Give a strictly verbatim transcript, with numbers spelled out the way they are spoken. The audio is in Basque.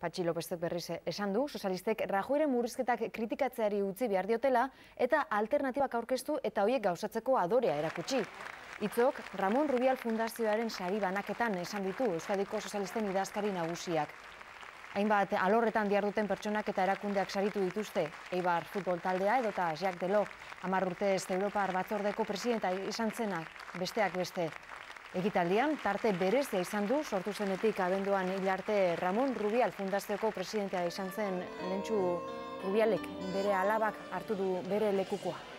Patxi Lopezek berriz esan du, sozialistek Rajoyren murrizketak kritikatzeari utzi behar diotela eta alternatibak aurkeztu eta horiek gauzatzeko adorea erakutsi. Hitzok Ramon Rubial Fundazioaren sari banaketan esan ditu Euskadiko sozialisten idazkari nagusiak. Hainbat alorretan diharduten pertsonak eta erakundeak saritu dituzte, Eibar futbol taldea edota Jacques Delors, hamar urtez Europar batzordeko presidenta izan zenak, besteak beste. Ekitaldian, tarte berezia izan du, sortu zenetik abenduan hil arte Ramon Rubial Fundazioko presidentea izan zen Lentxu Rubialek bere alabak hartu du bere lekukoa.